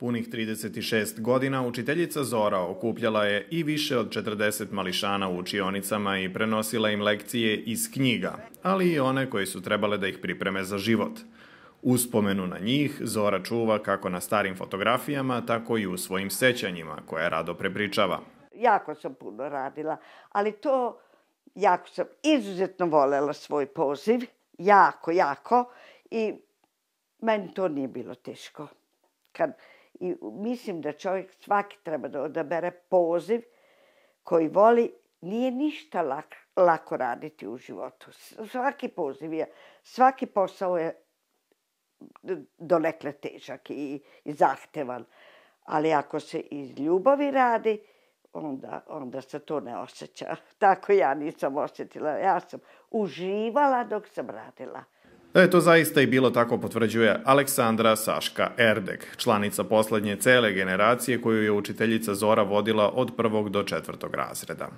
Punih 36 godina učiteljica Zora okupljala je i više od 40 mališana u učionicama i prenosila im lekcije iz knjiga, ali i one koji su trebale da ih pripreme za život. Uspomenu na njih Zora čuva kako na starim fotografijama, tako i u svojim sećanjima koje rado prepričava. Jako sam puno radila, ali jako sam izuzetno volela svoj poziv, jako, i meni to nije bilo teško. I mislim da čovjek svaki treba da odabere poziv koji voli, nije ništa lako raditi u životu. Svaki poziv svaki posao je donekle težak i zahtevan, ali ako se iz ljubavi radi, onda se to ne osjeća. Tako ja nisam osjetila. Ja sam uživala dok sam radila. Da je to zaista i bilo tako potvrđuje Aleksandra Saška Erdeg, članica poslednje cele generacije koju je učiteljica Zora vodila od 1. do 4. razreda.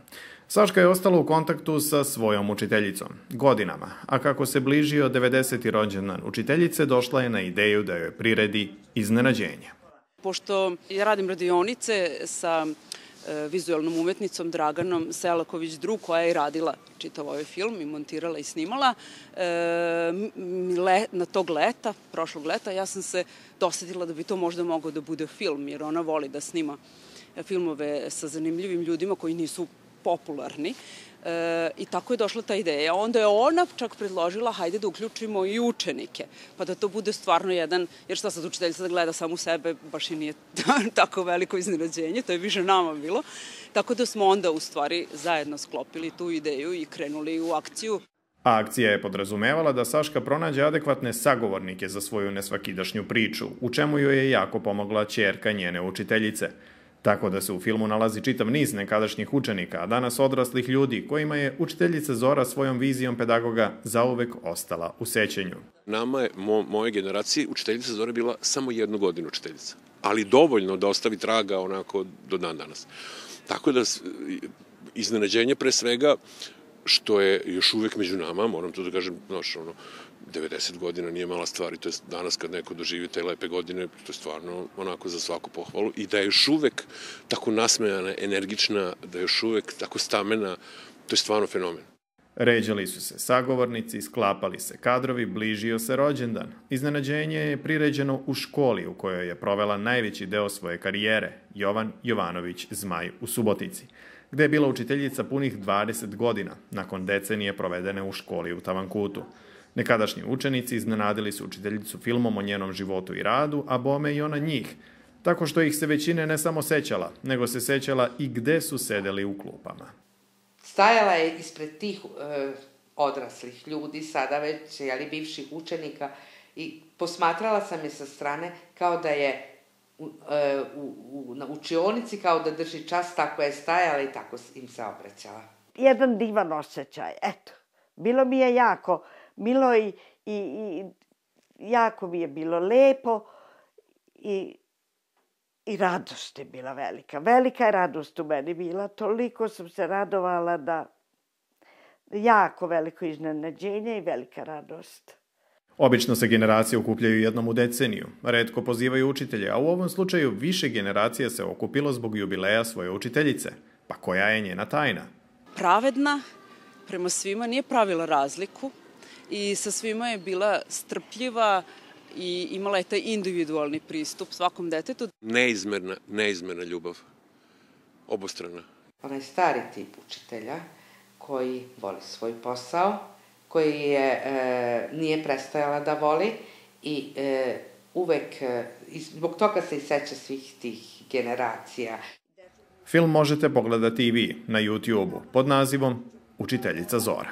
Saška je ostala u kontaktu sa svojom učiteljicom godinama, a kako se bližio 90. rođendan učiteljice, došla je na ideju da joj priredi iznenađenje. Pošto ja radim radionice sa vizualnom umetnicom Draganom Selaković-Dru, koja je i radila čitav ovaj film i montirala i snimala. Na tog leta, prošlog leta, ja sam se dosetila da bi to možda mogao da bude film, jer ona voli da snima filmove sa zanimljivim ljudima koji nisu popularni. I tako je došla ta ideja. Onda je ona čak predložila, hajde da uključimo i učenike, pa da to bude stvarno jedan, jer šta sad učiteljica da gleda samo sebe, baš i nije tako veliko iznenađenje, to je više nama bilo. Tako da smo onda u stvari zajedno sklopili tu ideju i krenuli u akciju. A akcija je podrazumevala da Saška pronađe adekvatne sagovornike za svoju nesvakidašnju priču, u čemu joj je jako pomogla ćerka njene učiteljice. Tako da se u filmu nalazi čitav niz nekadašnjih učenika, a danas odraslih ljudi kojima je učiteljica Zora svojom vizijom pedagoga zauvek ostala u sećanju. Nama je, moje generacije, učiteljica Zora bila samo 1 godinu učiteljica, ali dovoljno da ostavi traga onako do dan danas. Tako da iznenađenje pre svega što je još uvek među nama, moram to da kažem, 90 godina nije mala stvar i to je danas kad neko doživi te lepe godine, to je stvarno onako za svaku pohvalu i da je još uvek tako nasmejana, energična, da je još uvek tako stamena, to je stvarno fenomen. Ređali su se sagovornici, sklapali se kadrovi, bližio se rođendan. Iznenađenje je priređeno u školi u kojoj je provela najveći deo svoje karijere, Jovan Jovanović Zmaj u Subotici, gde je bila učiteljica punih 20 godina, nakon decenije provedene u školi u Tavankutu. Nekadašnji učenici iznenadili su učiteljicu filmom o njenom životu i radu, a bome i ona njih, tako što ih se većine ne samo sećala, nego se sećala i gde su sedeli u klupama. Stajala je ispred tih odraslih ljudi, sada već, bivših učenika, i posmatrala sam je sa strane kao da je na učionici, kao da drži čas, tako je stajala i tako im se obraćala. Jedan divan osjećaj, eto. Bilo mi je jako milo i jako mi je bilo lepo i radost je bila velika. Velika je radost u meni bila, toliko sam se radovala da jako veliko iznenađenje i velika radost. Obično se generacije okupljaju jednom u deceniju, retko pozivaju učitelje, a u ovom slučaju više generacija se okupilo zbog jubileja svoje učiteljice. Pa koja je njena tajna? Pravedna, prema svima nije pravila razliku i sa svima je bila strpljiva i imala je taj individualni pristup svakom detetu. Neizmerna ljubav, obostrana. Ona je stari tip učitelja koji voli svoj posao, koji nije prestajala da voli i uvek, zbog toga se i seća svih tih generacija. Film možete pogledati i vi na YouTube-u pod nazivom Učiteljica Zora.